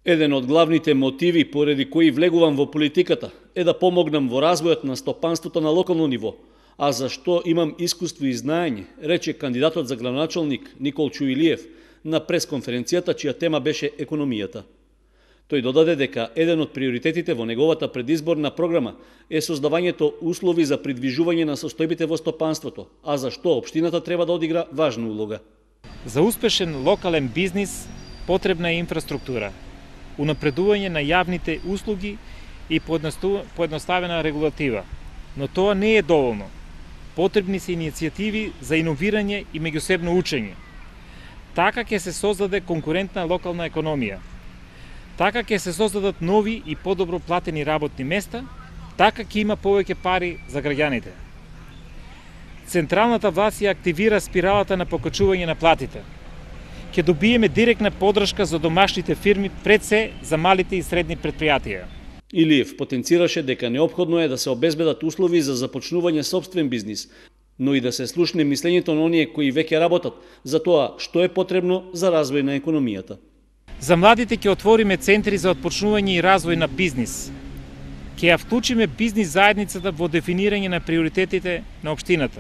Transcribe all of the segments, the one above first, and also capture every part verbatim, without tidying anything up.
Еден од главните мотиви поради кои влегувам во политиката е да помогнам во развојот на стопанството на локално ниво, а зашто имам искуство и знаење, рече кандидатот за градоначалник Никол Чуилиев на пресконференцијата чија тема беше економијата. Тој додаде дека еден од приоритетите во неговата предизборна програма е создавањето услови за придвижување на состојбите во стопанството, а зашто општината треба да одигра важна улога. За успешен локален бизнис потребна е инфраструктура, унапредување на јавните услуги и поедноставена регулатива. Но тоа не е доволно. Потребни се иницијативи за иновирање и меѓусебно учење. Така ќе се создаде конкурентна локална економија. Така ќе се создадат нови и подобро платени работни места, така ќе има повеќе пари за граѓаните. Централната власт ја активира спиралата на покачување на платите. Ќе добиеме директна подршка за домашните фирми, пред се за малите и средни предпријатија. Илиев потенцираше дека неопходно е да се обезбедат услови за започнување собствен бизнис, но и да се слушне мислењето на оние кои веќе работат за тоа што е потребно за развој на економијата. За младите ќе отвориме центри за отпочнување и развој на бизнис. Ќе ја вклучиме бизнис заедницата во дефинирање на приоритетите на општината.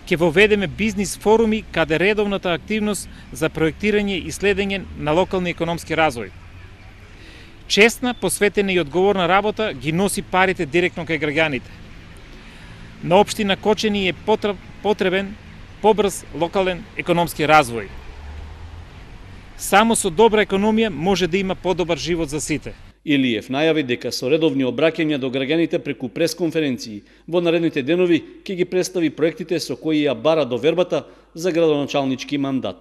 Ќе воведеме бизнис форуми каде редовната активност за проектирање и следење на локални економски развој. Честна, посветена и одговорна работа ги носи парите директно кај граѓаните. На општина Кочани е потребен побрз локален економски развој. Само со добра економија може да има подобар живот за сите. Илиев најави дека со редовни обраќања до граѓаните преку пресконференции во наредните денови ќе ги представи проектите со кои ја бара довербата за градоначалнички мандат.